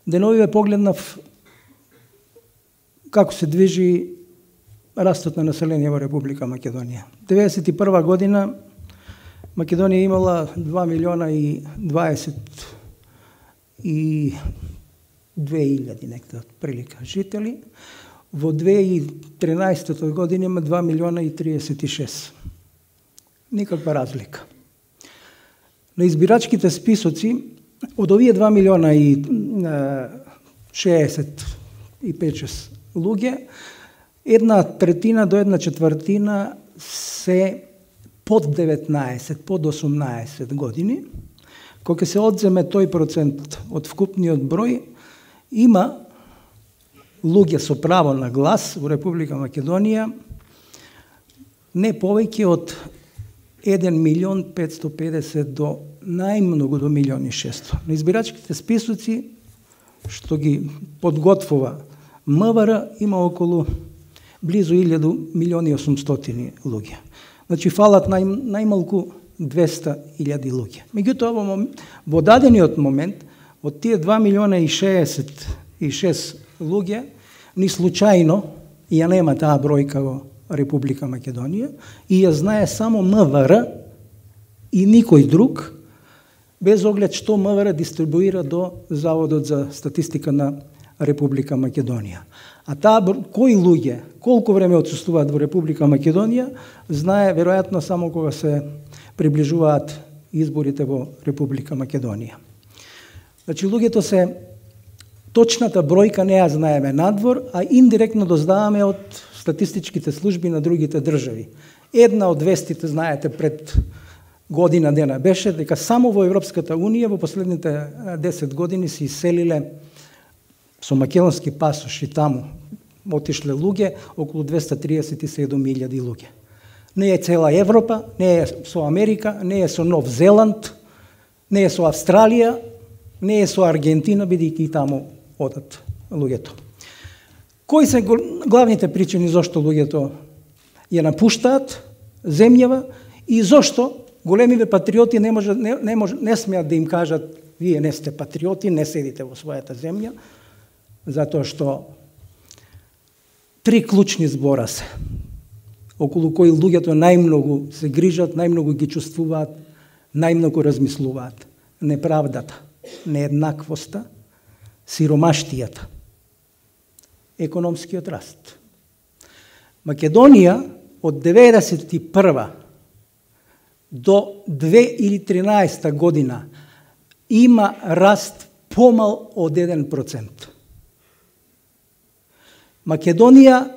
деновиве погледнав како се движи растот на население во Република Македонија. 1991 година Македонија имала 2 милиона и 22.000 некаде прилика жители. Во 2013 година има 2 милиона и 36. Никаква разлика. На избирачките списоци од овие 2 милиона и 65-6 луѓе, 1/3 до 1/4 се под 19, под 18 години. Кога се одземе тој процент од вкупниот број, има луѓе со право на глас во Република Македонија не повеќе од 1.550.000 до најмногу до 1.600.000. На избирачките списоци што ги подготвува МВР има околу близу 1.800.000 луѓе. Значи фалат најмалку 200.000 луѓе. Меѓутоа во дадениот момент од тие 2 милиона и 66 луѓе ни случајно ја нема таа бројка во Република Македонија и ја знае само МВР и никој друг, без оглед што МВР дистрибуира до Заводот за статистика на Република Македонија. А таа кои луѓе, колку време отсуствуваат во Република Македонија, знае веројатно само кога се приближуваат изборите во Република Македонија. Значи луѓето се точната бројка не ја знаеме надвор, а индиректно дознаваме од статистичките служби на другите држави. Една од вестите, знаете, пред година дена беше дека само во Европската Унија во последните 10 години се иселиле со македонски пасоши таму отишле луѓе околу 237.000 луѓе. Не е цела Европа, не е со Америка, не е со Нов Зеланд, не е со Австралија, не е со Аргентина, бидејќи и таму одат луѓето. Кои се главните причини зошто луѓето ја напуштаат земјава и зошто големиве патриоти не смеат да им кажат вие не сте патриоти, не седите во својата земја, затоа што три клучни збора се, околу кои луѓето најмногу се грижат, најмногу ги чувствуваат, најмногу размислуваат. Неправдата, нееднаквоста, сиромаштијата, економскиот раст. Македонија од 1991 до 2013 година има раст помал од 1%. Македонија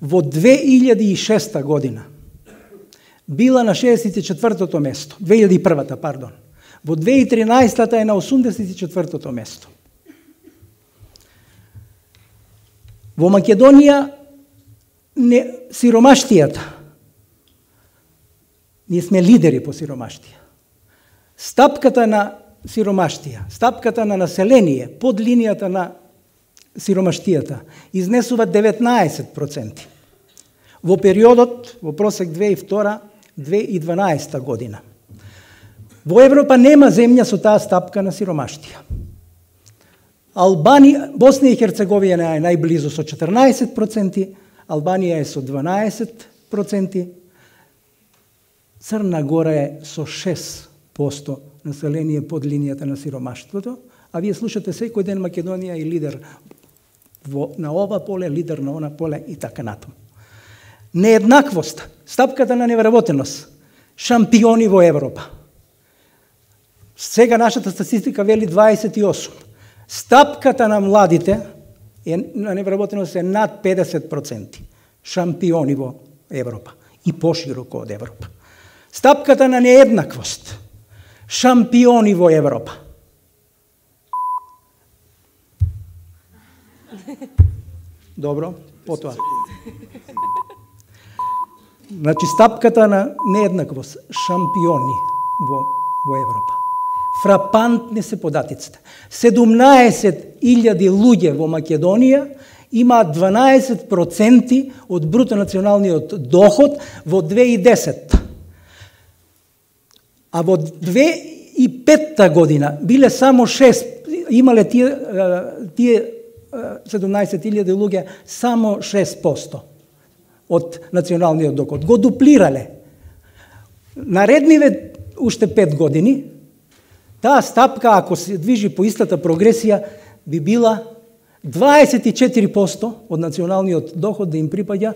во 2006 година била на 64-то место, 2001-та, пардон. Во 2013-та е на 84-то место. Во Македонија сиромаштијата, ние сме лидери по сиромаштија. Стапката на сиромаштија, стапката на население под линијата на сиромаштијата изнесува 19%. Во периодот, во просек 2002-2012 година. Во Европа нема земја со таа стапка на сиромаштија. Босна и Херцеговина е најблизу со 14%, Албанија е со 12%, Црна Гора е со 6% население под линијата на сиромаштвото, а вие слушате секој ден Македонија и лидер на ова поле, лидер на она поле и така натаму. Нееднаквост, стапката на невработеност, шампиони во Европа. Сега нашата статистика вели 28. Стапката на младите на невработеност е над 50%. Шампиони во Европа и пошироко од Европа. Стапката на нееднаквост, шампиони во Европа. Добро, потоа. Значи, стапката на нееднаквост, шампиони во Европа. Фрапантни се податиците. 17.000 луѓе во Македонија имаат 12% од бруто националниот доход во 2010. А во 2013 2005 година биле само 6, имале тие 17.000 луѓе само 6% од националниот доход. Го дуплирале. Наредниве уште 5 години, таа стапка, ако се движи по истата прогресија, би била 24% од националниот доход да им припаѓа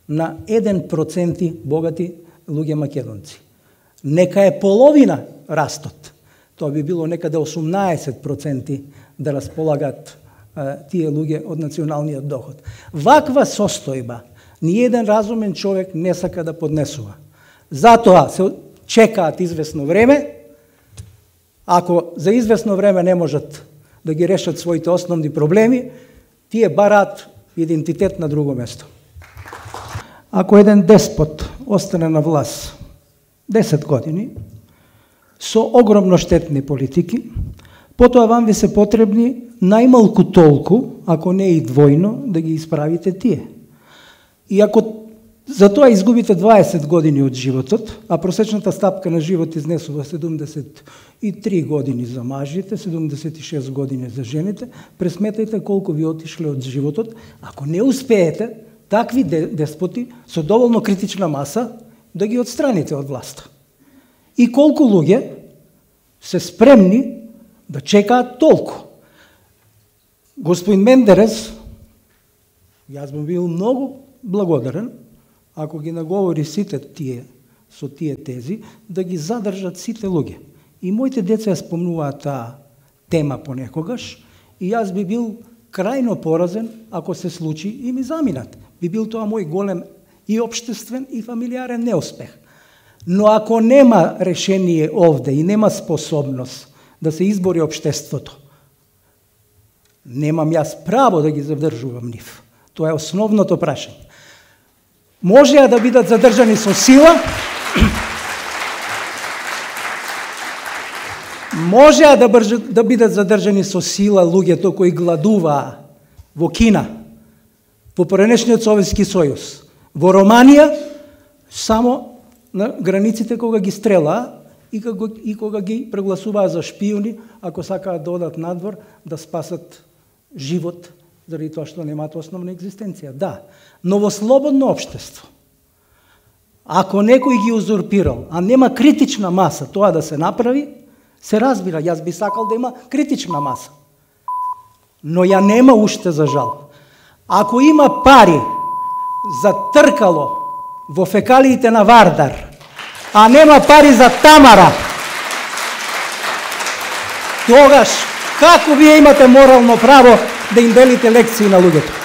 на 1% богати луѓе македонци. Нека е половина растот. Тоа би било некаде 18% да располагат тие луѓе од националниот доход. Ваква состојба ниеден разумен човек не сака да поднесува. Затоа се чекаат известно време. Ако за известно време не можат да ги решат своите основни проблеми, тие бараат идентитет на друго место. Ако еден деспот остане на власт 10 години со огромно штетни политики, потоа вам ви се потребни најмалку толку, ако не и двојно, да ги исправите тие. И ако за тоа изгубите 20 години од животот, а просечната стапка на живот изнесува 73 години за мажите, 76 години за жените, пресметајте колку ви отишле од животот. Ако не успеете, такви деспоти со доволно критична маса да ги отстраните од власта. И колку луѓе се спремни да чекаат толку. Господин Мендерес, јас би бил многу благодарен ако ги наговори сите тие со тие тези да ги задржат сите луѓе. И моите деца ја спомнуваат таа тема понекогаш и јас би бил крајно поразен ако се случи и ми заминат. Би бил тоа мој голем и општествен и фамилиарен неуспех. Но ако нема решение овде и нема способност да се избори општеството, немам јас право да ги задржувам нив. Тоа е основното прашање. Можеа да бидат задржани со сила, можеа да бидат задржани со сила луѓето кои гладуваа во Кина, во поранешниот Советски сојуз, во Романија, само на границите кога ги стрелаа и кога ги прегласуваа за шпиони, ако сакаат да одат надвор да спасат живот, заради тоа што немаат основна екзистенција. Да, но во слободно општество, ако некој ги узурпирал, а нема критична маса тоа да се направи, се разбира, јас би сакал да има критична маса. Но ја нема уште за жал. Ако има пари за тркало во фекалиите на Вардар, а нема пари за Тамара, тогаш како вие имате морално право да им делите лекции на луѓето?